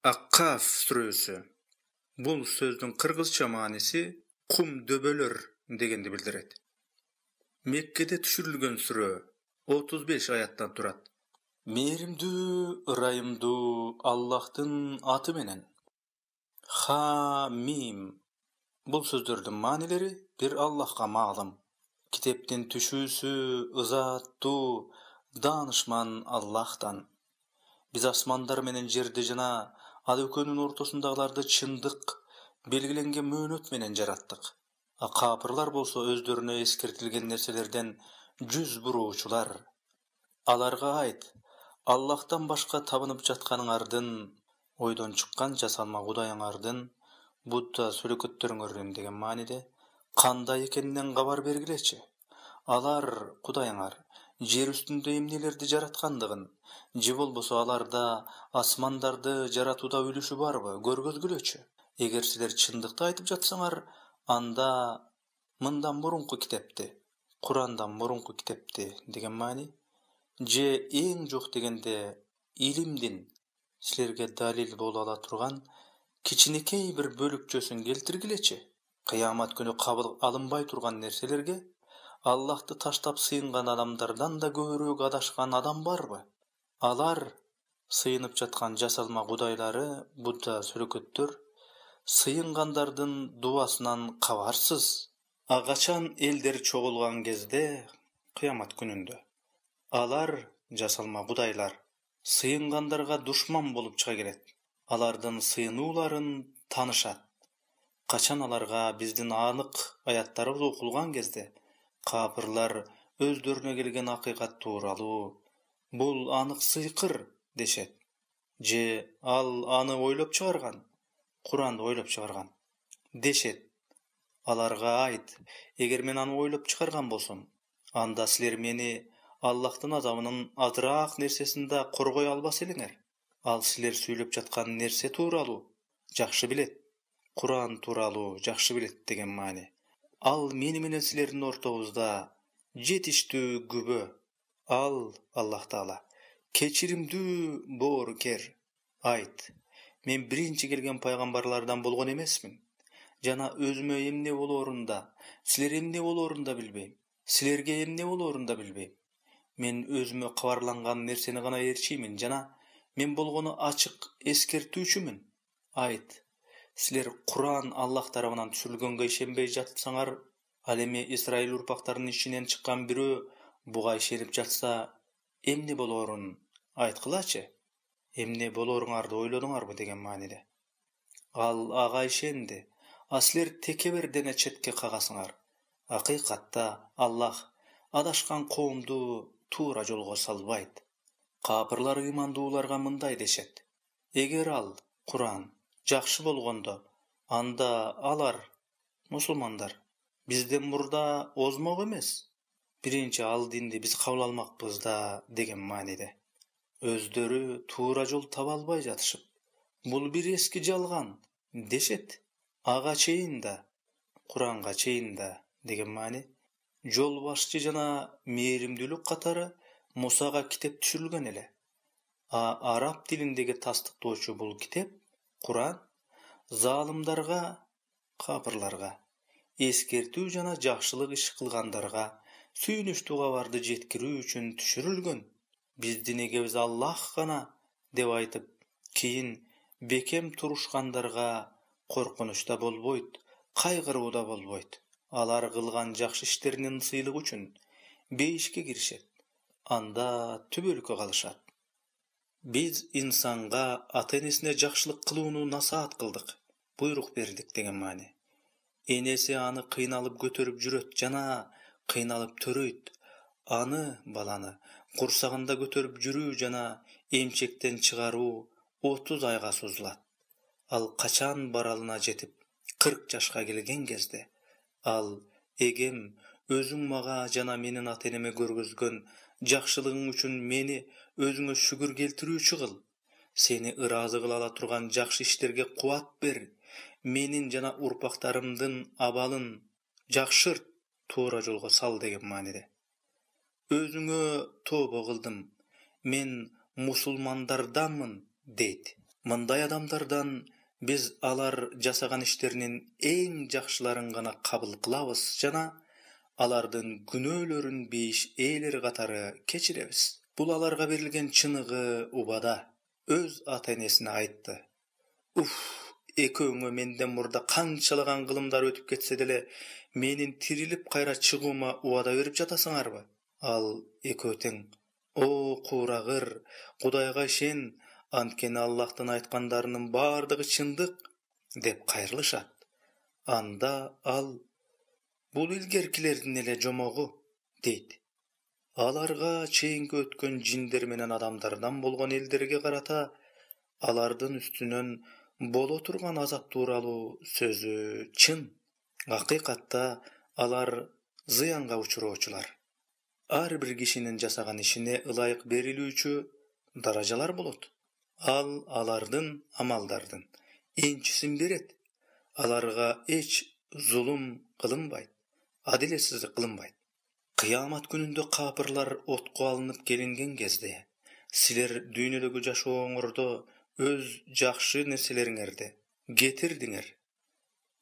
Ак-Каф сүрөсү. Бул сөздүн кыргызча мааниси кум дөбөлөр дегенди билдирет. Меккеде түшүрүлгөн сүрө 35 аяттан турат. Мээримдүү, ырайымдуу Аллахтын аты менен. Ха-мим. Бул сөздөрдүн маанилери бир Аллахка маалым. Китептин түшүүсү ызаттуу, даанышман Аллахтан. Биз асмандар менен жерди жана ал экөөнүн ортосундагыларды чындык, белгиленген мөөнөт менен жараттык. Капырлар болсо өздөрүнө эскертилген нерселерден жүз буруучулар. Аларга айт: Аллахтан башка табынып жатканыңардын, ойдон чыккан жасалма кудайыңардын, Будда сүрөкөттөрүңөрдүн деген мааниде кандай экенинен кабар бергилечи. Алар, кудайыңар, жер үстүндө эмнелерди жараткандыгын, же болбосо аларда асмандарды жаратууда үлүшү барбы, көргөзгүлөчү. Эгер силер чындыкты айтып жатсаңар, анда мындан мурунку китепти, Курандан мурунку китепти деген маани, же эң жок дегенде илимдин силерге далил боло ала турган кичинекей бир бөлүкчөсүн келтиргилечи. Кыямат күнү кабыл алынбай турган нерселерге Аллахты таштап сыйынган адамдардан да көбүрөөк адашкан адам барбы? Алар сыйынып жаткан жасалма кудайлары, Будда сүрөкөттөр, сыйынгандардын дубасынан кабарсыз. Качан элдер чогулган кезде, кыямат күнүндө, алар, жасалма кудайлар, сыйынгандарга душман болуп чыга келет. Алардын сыйынууларын таанышат. Качан аларга биздин анык аяттарыбыз окулган кезде, капырлар өздөрүнө келген акыйкат тууралуу, бул анык сыйкыр дешет. Же ал аны ойлоп чыгарган, Куранды ойлоп чыгарган дешет. Аларга айт: эгер мен аны ойлоп чыгарган болсом, анда силер мени Аллахтын азабынын азыраак нерсесин да коргой албас элеңер. Ал силер сүйлөп жаткан нерсе тууралуу жакшы билет. Куран тууралуу жакшы билет деген маани. Ал мени менен силердин ортобузда жетиштүү күбө. Ал, Аллах Таала, кечиримдүү боорукер. Айт: мен биринчи келген пайгамбарлардан болгон эмесмин. Жана өзүмө эмне болоорун да, силер эмне болоорун да билбейм. Силерге эмне болоорун да билбейм. Мен өзүмө кабарланган нерсени гана ээрчиймин жана мен болгону ачык эскертүүчүмүн. Айт: силер Куран Аллах тарабынан түшүрүлгөнгө ишенбей жатсаңар, ал эми Исраил урпактарынын ичинен чыккан бирөө буга ишенип жатса, эмне болоорун айткылачы. Эмне болооруңарды ойлодуңарбы деген мааниде. Ал ага ишенди, а силер текебер дене четке кагасыңар. Акыйкатта Аллах адашкан коомду туура жолго салбайт. Капырлар ыймандууларга мындай дешет: эгер ал, Куран, жакшы болгондо, анда алар, мусулмандар, бизден мурда озмок эмес. Биринчи ал динди биз кабыл алмакпыз да деген мааниде. Өздөрү туура жол таба албай жатышып, бул бир эски жалган дешет. Ага чейин да, Куранга чейин да деген маани. Жол башчы жана мээримдүүлүк катары Мусага китеп түшүрүлгөн эле. Араб тилиндеги тастыктоочу бул китеп, Куран, залымдарга, капырларга, эскертүү жана жакшылык иш кылгандарга сүйүнүчтүү кабарды жеткирүү үчүн түшүрүлгөн. Биздин эгебиз Аллах гана деп айтып, кийин бекем турушкандарга коркунуч да болбойт, кайгыруу да болбойт. Алар кылган жакшы иштеринин сыйлыгы үчүн бейишке киришет. Анда түбөлүккө калышат. Биз инсанга ата-энесине жакшылык кылууну насаат кылдык, буйрук бердик деген маани. Энеси аны кыйналып көтөрүп жүрөт жана кыйналып төрөйт. Аны, баланы, курсагында көтөрүп жүрүү жана эмчектен чыгаруу 30 айга созулат. Ал качан баралына жетип 40 жашка келген кезде, ал: эгем өзүң мага жана менин ата-энеме көргөзгөн жакшылыгың үчүн мени өзүңө шүгүр келтирүүчү кыл. Сени ыраазы кыла ала турган жакшы иштерге кубат бер. Менин жана урпактарымдын абалын жакшырт, туура жолго сал деген мааниде. Өзүңө тобо кылдым, мен мусулмандарданмын дейт. Мындай адамдардан биз алар жасаган иштеринин эң жакшыларын гана кабыл кылабыз жана алардын күнөөлөрүн бейиш ээлери катары кечиребиз. Бул аларга берилген чыныгы убада. Өз ата-энесине айтты: экөөңө менден мурда канчалаган кылымдар өтүп кетсе деле, менин тирилип кайра чыгуума убада берип жатасыңарбы? Ал экөө тең: О куурагыр, Кудайга ишен, анткени Аллахтын айткандарынын бардыгы чындык, деп кайрылышат. Анда ал: бул илгеркилердин эле жомогу, дейт. Аларга чейинки өткөн жиндер менен адамдардан болгон элдерге карата алардын үстүнөн боло турган азап тууралуу сөзү чын. Акыйкатта алар зыянга учуроочулар. Ар бир кишинин жасаган ишине ылайык берилүүчү даражалар болот. Ал алардын амалдардын энчисин берет. Аларга эч зулум кылынбайт, адилетсиздик кылынбайт. Кыямат күнүндө капырлар отко алынып келинген кезде, силер дүйнөдөгү жашооңордо өз жакшы нерселериңерди кетирдиңер,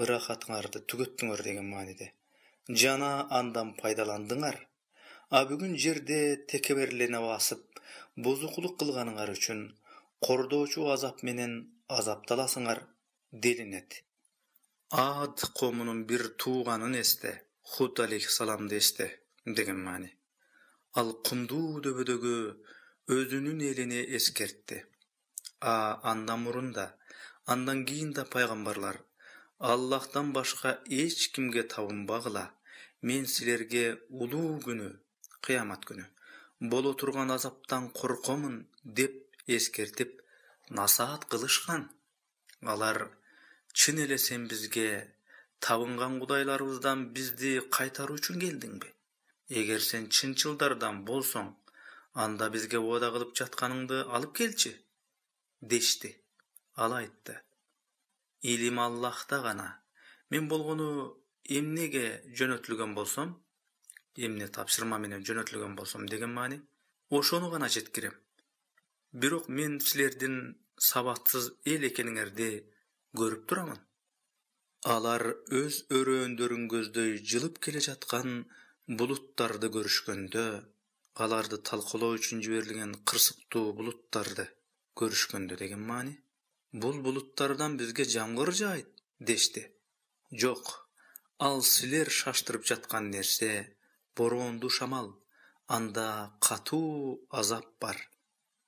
ырахатыңарды түгөттүңөр деген мааниде, жана андан пайдаландыңар. А бүгүн жерде текеберлене басып, бузукулук кылганыңар үчүн кордоочу азап менен азапталасыңар делинет. Ад коомунун бир тууганын эсте, Худ алейхиссаламды эсте деген маани. Ал кумдуу дөбөдөгү өзүнүн элине эскертти. Андан мурун да, андан кийин да пайгамбарлар: Аллахтан башка эч кимге табынбагыла, мен силерге улуу күнү, кыямат күнү боло турган азаптан коркомун деп эскертип насаат кылышкан. Алар: чын эле сен бизге табынган кудайларыбыздан бизди кайтаруу үчүн келдиңби? Эгер сен чынчылдардан болсоң, анда бизге убада кылып жатканыңды алып келчи, дешти. Ал айтты: илим Аллахта гана. Мен болгону эмнеге жөнөтүлгөн болсом, эмне тапшырма менен жөнөтүлгөн болсом деген маани, ошону гана жеткирем. Бирок мен силердин сабатсыз эл экениңерди көрүп турамын. Алар өз өрөөндөрүн көздөй жылып келе жаткан булуттарды көрүшкөндө, аларды талкалоо үчүн жиберилген кырсыктуу булуттарды көрүшкөндө деген маани. Бул булуттардан бизге жамгыр жаайт, дешти. Жок, ал силер шаштырып жаткан нерсе бороондуу шамал, анда катуу азап бар.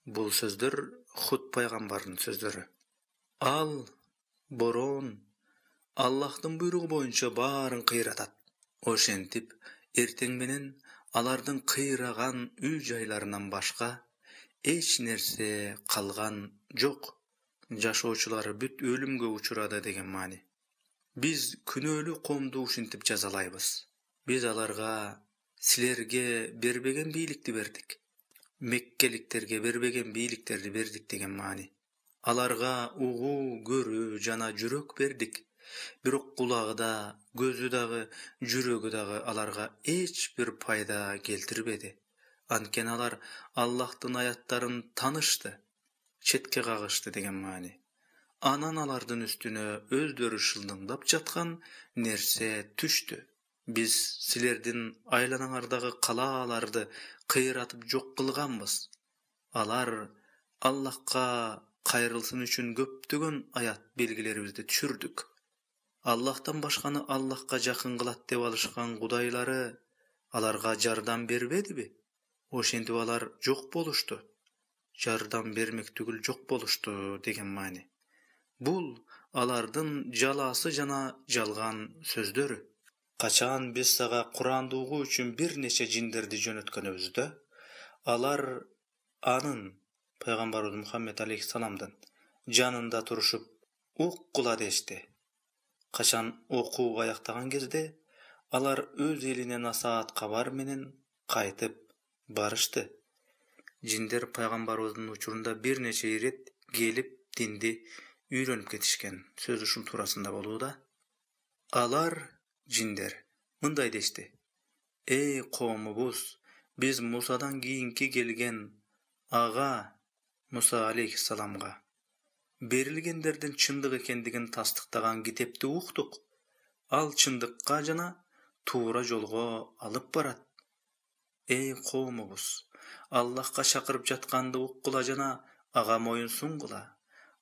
Бул сөздөр Худ пайгамбардын сөздөрү. Ал, бороон, Аллахтын буйругу боюнча баарын кыйратат. Ошентип, эртең менен алардын кыйраган үй жайларынан башка эч нерсе калган жок. Жашоочулары бүт өлүмгө учурады деген маани. Биз күнөөлүү коомду ушинтип жазалайбыз. Биз аларга силерге бербеген бийликти бердик, меккеликтерге бербеген бийликтерди бердик деген маани. Аларга угуу, көрүү жана жүрөк бердик. Бирок кулагы да, көзү дагы, жүрөгү дагы аларга эч бир пайда келтирбеди. Анткени алар Аллахтын аяттарын танышты, четке кагышты деген маани. Анан алардын үстүнө өздөрү шылдыңдап жаткан нерсе түштү. Биз силердин айланаңардагы калааларды кыйратып жок кылганбыз. Алар Аллахка кайрылсын үчүн көптөгөн аят белгилерибизди түшүрдүк. Аллахтан башканы Аллахка жакын кылат деп алышкан кудайлары аларга жардам бербедиби? Ошентип алар жок болушту. Жардам бермек түгүл жок болушту деген маани. Бул алардын жалаасы жана жалган сөздөрү. Качан биз сага Куранды угуу үчүн бир нече жиндерди жөнөткөнүбүздө, алар анын, пайгамбарыбыз Мухаммед алейхиссаламдын жанында турушуп уккула дешти. Качан окуу аяктаган кезде, алар өз элине насаат кабар менен кайтып барышты. Жиндер пайгамбарыбыздын учурунда бир нече ирет келип динди үйрөнүп кетишкен. Сөз ушул туурасында болууда. Алар, жиндер, мындай дешти: эй коомубуз, биз Мусадан кийинки келген ага Муса алейхиссаламга берилгендердин чындык экендигин тастыктаган китепти уктук. Ал чындыкка жана туура жолго алып барат. Эй коомубуз, Аллахка чакырып жатканды уккула жана ага моюн сунгула.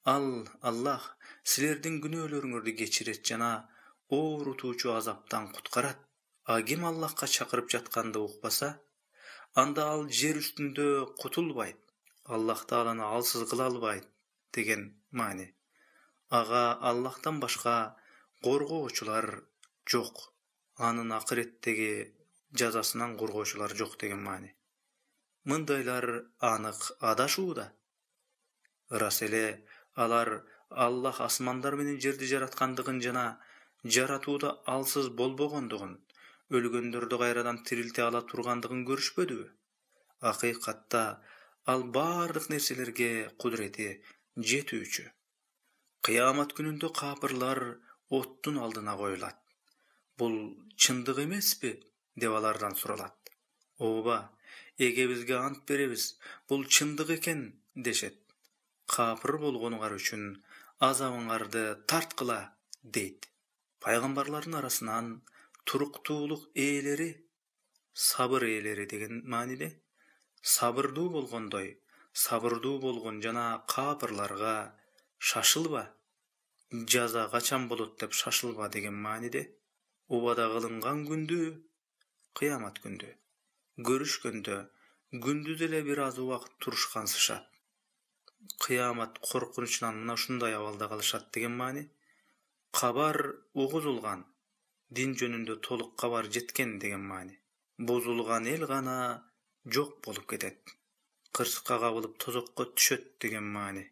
Аллах силердин күнөөлөрүңөрдү кечирет жана оорутуучу азаптан куткарат. А ким Аллахка чакырып жатканды укпаса, анда ал жер үстүндө кутулбайт. Аллах Тааланы алсыз кыла албайт деген маани. Ага Аллахтан башка коргоочулар жок. Анын акыреттеги жазасынан коргоочулар жок деген маани. Мындайлар анык адашууда. Ырас эле алар Аллах асмандар менен жерди жараткандыгын жана жаратууда алсыз болбогондугун, өлгөндөрдү кайрадан тирилте ала тургандыгын көрүшпөдүбү? Акыйкатта ал бардык нерселерге кудурети жетүүчү. Кыямат күнүндө капырлар оттун алдына коюлат. Бул чындык эмеспи? Деп алардан суралат. Ооба, эге бизге ант беребиз, бул чындык экен дешет. Капыр болгонуңар үчүн азабыңарды тарткыла дейт. Пайгамбарлардын арасынан туруктуулук ээлери, сабыр ээлери деген мааниде, сабырдуу болгондой, сабырдуу болгон жана капырларга шашылба, жаза качан болот деп шашылба деген мааниде, убада кылынган күндү, кыямат күндү көрүшкөндө күндүз эле бир аз убакыт турушкансышат. Кыямат коркунучунан мына ушундай абалда калышат деген маани. Кабар угузулган, дин жөнүндө толук кабар жеткен деген маани. Бузулган эл гана жок болуп кетет. Кырсыкка кабылып тозокко түшөт деген маани.